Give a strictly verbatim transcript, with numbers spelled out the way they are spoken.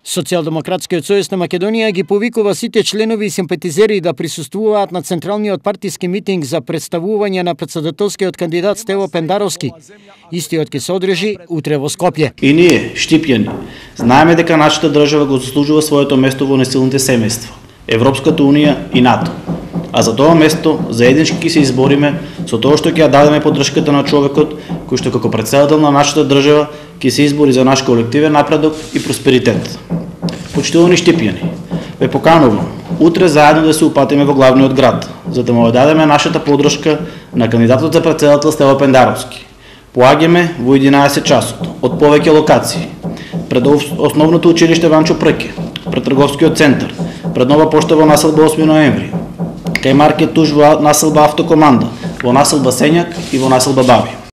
Социјалдемократскиот сојуз на Македонија ги повикува сите членови и симпатизери да присуствуваат на централниот партиски митинг за представување на претседателскиот кандидат Стево Пендаровски. Истиот ќе се одржи утре во Скопје. И ние, штипјани, знаеме дека нашата држава го заслужува своето место во несилните семејства, Европската унија и НАТО. А за тоа место заеднички ќе се избориме со тоа што ќе ја дадеме поддршката на човекот кој што како претседател на нашата држава ќе се избори за наш колективен напредок и просперитет. Почитувани штипјани, ве поканувам утре заедно да се упатиме во главниот град, за да му дадеме нашата поддршка на кандидатот за претседател Стево Пендаровски. Поаѓаме во единаесет часот од повеќе локации, пред основното училиште Ванчо Прке, пред трговскиот центар, пред нова пошта во населба осми ноември, кај маркет туж во населба Автокоманда, во населба Сењак и во населба Баби.